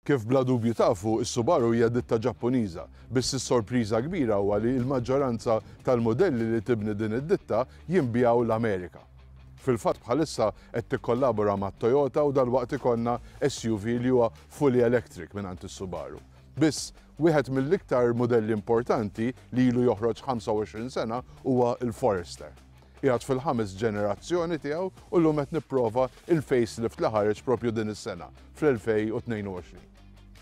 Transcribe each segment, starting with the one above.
Kif bla dubju tafu, is-Subaru hija ditta Ġappuniża, biss is-sorpriża kbira huwa li l-maġġoranza tal-mudelli li tibni din id-ditta jinbiegħu l-Amerika. Fil-fatt bħalissa qed tikkollabora mat-Toyota u dalwaqt ikollna SUV li huwa fully electric mingħand is-Subaru. Biss, wieħed mill-iktar mudelli importanti li ilu joħroġ 25 sena huwa l-Forester. Qiegħed fil-ħames ġenerazzjoni tiegħu u llum qed nipprova il-facelift li ħareġ propju din is-sena, fl-2022.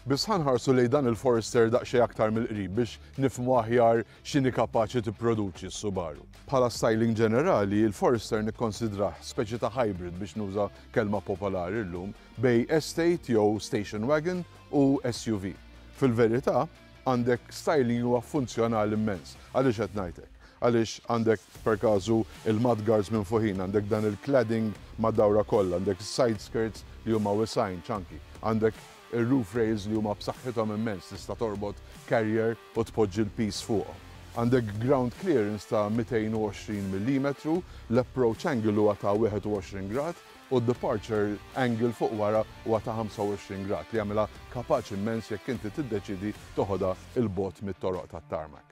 Biss ħa nħarsu lejn dan il-Forester daqsxejn aktar mill-qrib biex nifhmu aħjar x'inhi kapaċi tipproduċi s-Subaru. Bħala styling ġenerali, il-Forester nikkonsidrah speċi ta' hybrid biex nuża kelma popolari llum bejn estate jew station wagon u SUV. Fil-verità, għandek styling huwa funzjonali immens. Għaliex qed ngħid hekk? Għaliex għandek per każu il-mudguards minn fuqin, għandek dan il-cladding mad-dawra kollha, għandek side skirts li huma wisgħin, chunky, għandek il-roof rails li huma b'saħħithom immens, tista' torbot carrier u tpoġġi l-piż fuqhom. Għandek ground clearance ta' 220 mm, l-approach angle huwa ta' 21 grad u d-departure angle fuq wara huwa ta' 25 grad li jagħmilha kapaċi immens jekk inti tiddeċidi toħodha 'l bogħod mit-toroq tat-tarmac.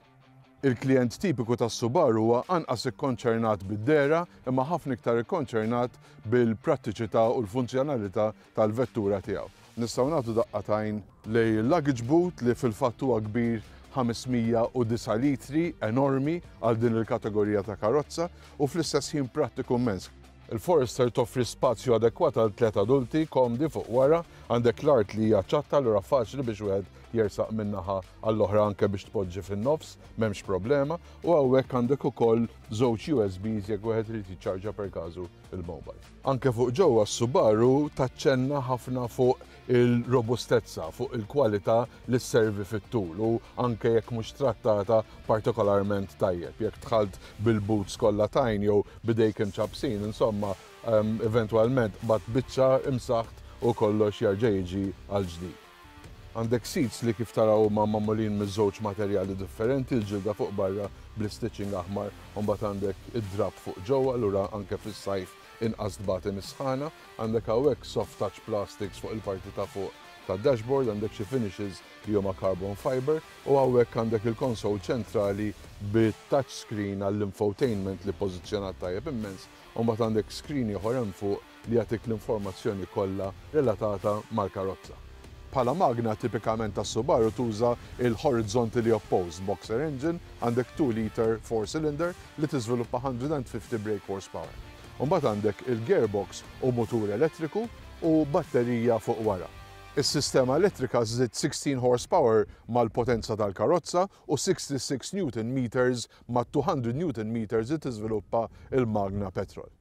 Il-klient tipiku tas-Subaru huwa anqas ikkonċernat bid-dehra imma ħafna iktar ikkonċernat bil-prattiċità u l-funzjonalità tal-vettura tiegħu. Nistgħu nagħtu daqqa t'għajn lejn il-luggage boot li fil-fatt huwa kbir 509 litri, enormi għal din il-kategorija ta' karozza u fl-istess ħin prattiku immens. Il-Forester toffri spazju adekwat għal tliet adulti komdi fuq wara, għandek l-art li hija ċatta allura faċli biex wieħed jersaq min-naħa għall-oħra anke biex tpoġġi fin-nofs, m'hemmx problema, u hawnhekk għandek ukoll żewġ USBs jekk wieħed irid jiċċarġa per każu il-mobile. Anke fuq ġewwa s-Subaru taċċenna ħafna fuq il-robustezza, fuq il-kwalità li sservi fit-tul u anke jekk mhux trattata partikolarment tajjeb. Jekk dħalt bil-boots kollha tajn jew b'idejk imċappsin, insomma, eventwalment qbadt biċċa imsaħt u kollox jerġa' jiġi għal ġdid. Għandek seats li kif taraw huma magħmulin miż-żewġ materjali differenti, il-ġilda fuq barra bl-stitching aħmar u mbagħad għandek id-drapp fuq ġewwa, allura anke fis-sajf inqas tbati mis-sħana. Għandek hawnhekk soft touch plastics fuq il-parti ta' fuq tad-dashboard, għandek xi finishes li huma carbon fiber u hawnhekk għandek il-console ċentrali bit-touch screen għall-infotainment li pożizzjonat tajjeb immens, u mbagħad għandek screen ieħor hemm fuq li jagħtik l-informazzjoni kollha relatata mal-karozza. Bħala magna tipikament tas-Subaru tuża il-horizontally opposed boxer engine, għandek 2 liter 4 cylinder li tiżviluppa 150 brake horsepower. Mbagħad għandek il-gearbox u mutur elettriku u batterija fuq wara. Is-sistema elettrika żżid 16 horsepower mal-potenza tal-karozza u 66 newton meters ma' 200 newton meters li tiżviluppa il-magna petrol.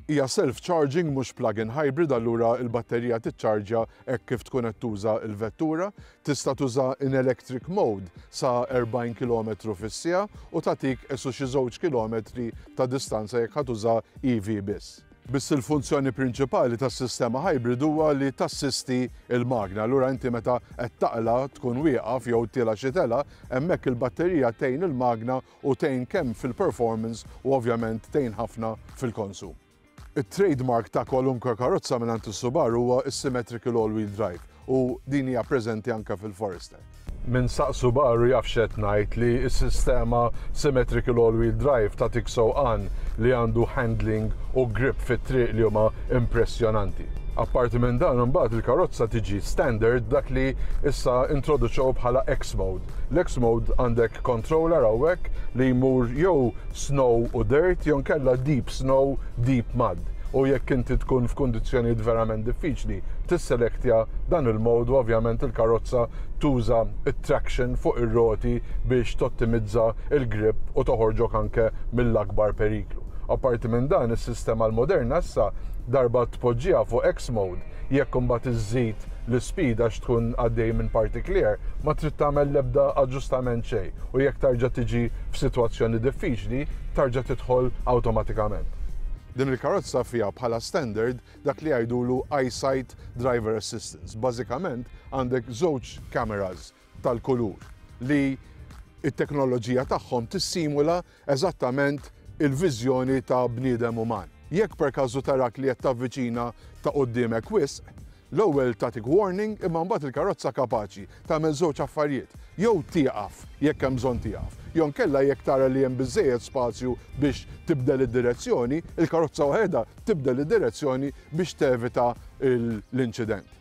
Hija self-charging mhux plug-in hybrid, allura il-batterija tiċċarġja hekk kif tkun qed tuża l-vettura. Tista' tuża in electric mode sa 40 km fis-siegħa u tagħtik qisu xi 2 kilometri ta' distanza jekk ħa tuża EV biss. Biss il-funzjoni prinċipali tas-sistema hybrid huwa li tassisti il-magna. Allura inti meta qed taqla tkun wieqaf jew tiela xi tela, hemmhekk il-batterija tgħin il-magna u tgħin kemm fil-performance u ovvjament tgħin ħafna fil-konsum. Il-trademark ta' kwalunkwe karozza minn is-Subaru huwa s-symmetrical all-wheel drive u din hija preżenti anke fil-Forester. Min saq Subaru jaf x'qed ngħid li s-sistema symmetrical all-wheel drive tagħtik sewqan li għandu handling u grip fit-triq li huma impressjonanti. Apparti minn dan, imbagħad il-karozza tiġi standard dak li issa introduċew bħala X-Mode. L-X Mode għandek controller hawnhekk li jmur jew snow u dirt jew nkella deep snow, deep mud. U jekk inti tkun f'kundizzjonijiet verament diffiċli, tisselektja dan il-mode u ovvjament il-karozza tuża it-traction fuq ir-roti biex tottimizza il-grip u toħorġok anke mill-akbar periklu. Apparti minn dan, is-sistema l-moderna issa darba tpoġġiha fuq X mode, jekk imbagħad iżżid l-speed għax tkun għaddej minn parti clear, ma trid tagħmel l-ebda aġġustament xejn u jekk tarġa' tiġi f'sitwazzjoni diffiċli, tarġa' tidħol awtomatikament. Din il-karozza fiha bħala standard dak li jgħidulu EyeSight Driver Assistance. Bażikament għandek żewġ cameras tal-kulur li it-teknoloġija tagħhom tissimula eżattament il-viżjoni ta' bniedem uman. Jekk per każu tarak li qed tavviċina ta' quddiemek wisq, L-ewwel tagħtik warning imma mbagħad il-karozza kapaċi tagħmel żewġ affarijiet, jew tieqaf jekk hemm bżonn tieqaf, jew inkella jekk tara li hemm biżżejjed spazju biex tibdel id-direzzjoni, il-karozza waħedha tibdel id-direzzjoni biex tevita l-inċident.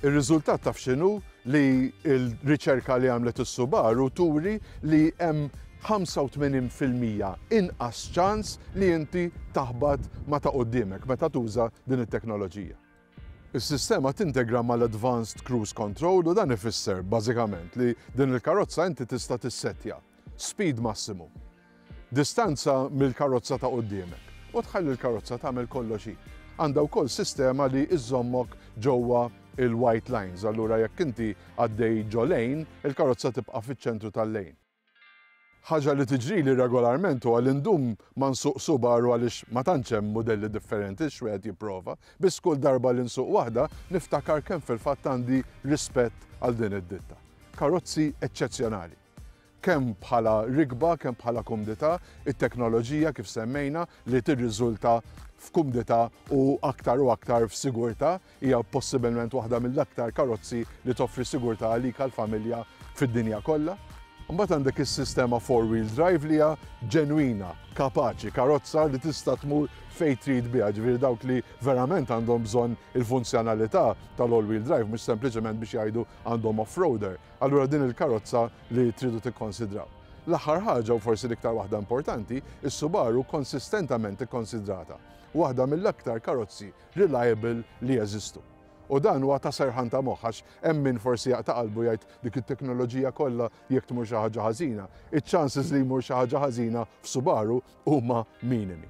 Ir-riżultat taf x'inhu? Li l-riċerka li għamlet is-Subaru turi li hemm 85% inqas ċans li inti taħbat ma' ta' quddiemek meta tuża din it-teknoloġija. Is-sistema tintegra mal-Advanced Cruise Control u dan ifisser bażikament li din il-karozza inti tista' tissettja speed massimu, distanza mill-karozza ta' quddiemek u tħalli l-karozza tagħmel kollox hi. Għandha wkoll sistema li iżżommok ġewwa il-white lines, allura jekk inti għaddej ġo lane, il-karozza tibqa' fiċ-ċentru tal-lane. Ħaġa li tiġrili regolarment huwa li ndum ma nsuq Subaru għaliex ma tantx hemm mudelli differenti x'wieħed jipprova, biss kull darba li nsuq waħda niftakar kemm fil-fatt għandi rispett għal din id-ditta. Karozzi eċċezzjonali. Kemm bħala rikba, kemm bħala kumdità, it-teknoloġija kif semmejna li tirriżulta f'kumdità u aktar u aktar f'sigurtà, hija possibilment waħda mill-aktar karozzi li toffri sigurtà għalik għall-familja fid-dinja kollha. Imbagħad għandek is-sistema four-wheel drive li hija ġenwina, kapaċi, karozza li tista' tmur fejn trid biha, ġifieri dawk li verament għandhom bżonn il-funzjonalità tal-all-wheel drive mhux sempliċement biex jgħidu għandhom off-roader. Allura din il-karozza li tridu tikkonsidraw. L-aħħar ħaġa u forsi l-iktar waħda importanti, is-Subaru konsistentament ikkonsidrata waħda mill-aktar karozzi reliable li jeżistu. U dan huwa ta' serħan ta' moħħ għax hemm min forsi jaqta' qalbu jgħid dik it-teknoloġija kollha jekk tmur xi ħaġa ħażina. Iċ-chances li jmur xi ħaġa ħażina f'Subaru huma minimi.